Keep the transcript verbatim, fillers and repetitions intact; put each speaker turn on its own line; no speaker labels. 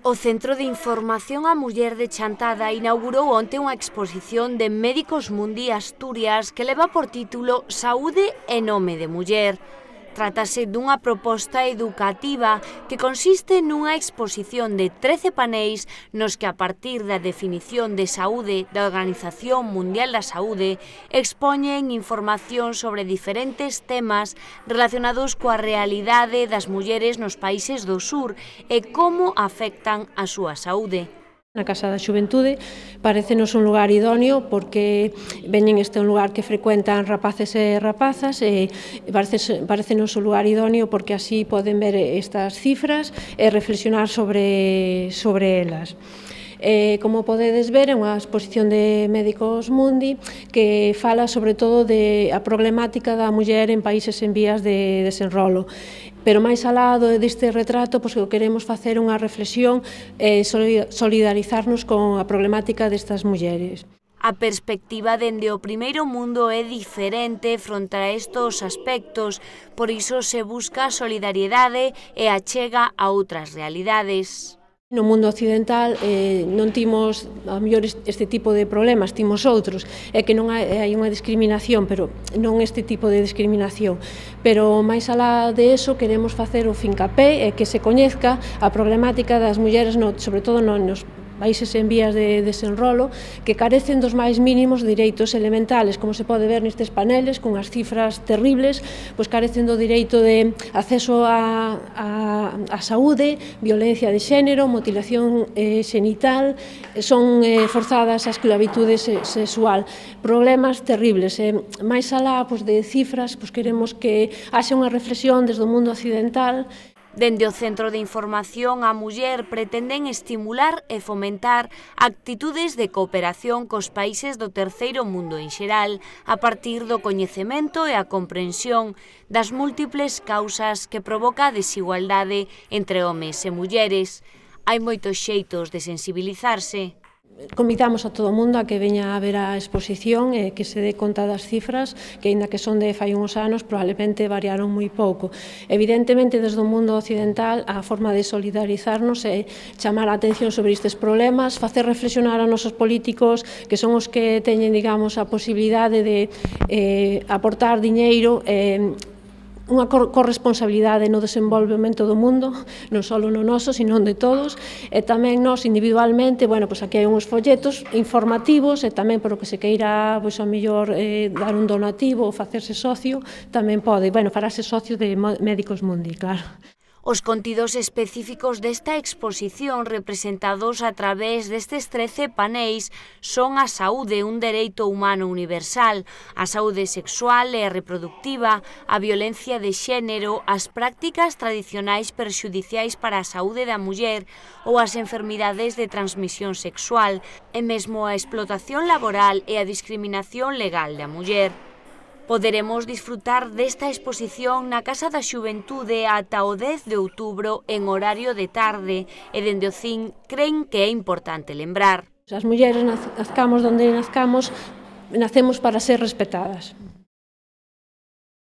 O Centro de Información á Muller de Chantada inaugurou onte unha exposición de Médicos Mundi Asturias que leva por título Saúde e nome de muller. Trátase dunha proposta educativa que consiste nunha exposición de trece paneis nos que a partir da definición de saúde da Organización Mundial da Saúde expoñen información sobre diferentes temas relacionados coa realidade das mulleres nos países do sur e como afectan a súa saúde.
Na Casa da Xuventude parecenos un lugar idóneo porque veñen este un lugar que frecuentan rapaces e rapazas e parecenos un lugar idóneo porque así poden ver estas cifras e reflexionar sobre, sobre elas. Eh, como podedes ver, é unha exposición de Médicos Mundi que fala sobre todo de a problemática da muller en países en vías de desenrolo. Pero máis alá deste retrato, pois, que queremos facer unha reflexión e eh, solidarizarnos con a problemática destas mulleres.
A perspectiva dende o primeiro mundo é diferente fronte a estos aspectos, por iso se busca solidariedade e achega a outras realidades.
No mundo occidental eh, non timos a mellor este tipo de problemas, timos outros, é que non hai, hai unha discriminación, pero non este tipo de discriminación. Pero máis alá de eso queremos facer o fincapé e que se coñezca a problemática das mulleres, no, sobre todo no, nos países en vías de desenrolo, que carecen dos máis mínimos direitos elementales, como se pode ver nestes paneles, con as cifras terribles, pois carecen do direito de acceso a, a, a saúde, violencia de xénero, mutilación eh, xenital, son eh, forzadas a esclavitude sexual, problemas terribles. Eh, máis alá pois, de cifras, pois, queremos que haxa unha reflexión desde o mundo occidental.
Dende o Centro de Información á Muller pretenden estimular e fomentar actitudes de cooperación cos países do terceiro mundo en xeral a partir do coñecemento e a comprensión das múltiples causas que provoca a desigualdade entre homes e mulleres. Hai moitos xeitos de sensibilizarse.
Convidamos a todo o mundo a que veña a ver a exposición e que se dé conta das cifras, que aínda que son de fai uns anos, probablemente variaron moi pouco. Evidentemente, desde o mundo occidental, a forma de solidarizarnos é chamar a atención sobre estes problemas, facer reflexionar a nosos políticos, que son os que teñen, digamos, a posibilidade de eh, aportar diñeiro e eh, unha corresponsabilidade no desenvolvemento do mundo, non só no noso, sino de todos, e tamén nós individualmente, bueno, pois aquí hai uns folletos informativos e tamén por o que se queira, pois ao mellor eh, dar un donativo ou facerse socio, tamén pode, bueno, farase socio de Médicos Mundi, claro.
Os contidos específicos desta exposición representados a través destes trece paneis son a saúde, un dereito humano universal, a saúde sexual e reproductiva, a violencia de xénero, as prácticas tradicionais perxudiciais para a saúde da muller ou as enfermidades de transmisión sexual, e mesmo a explotación laboral e a discriminación legal da muller. Poderemos disfrutar desta exposición na Casa da Xuventude ata o dez de outubro en horario de tarde e dende o C I N cren que é importante lembrar.
As mulleres nazcamos donde nazcamos, nacemos para ser respetadas.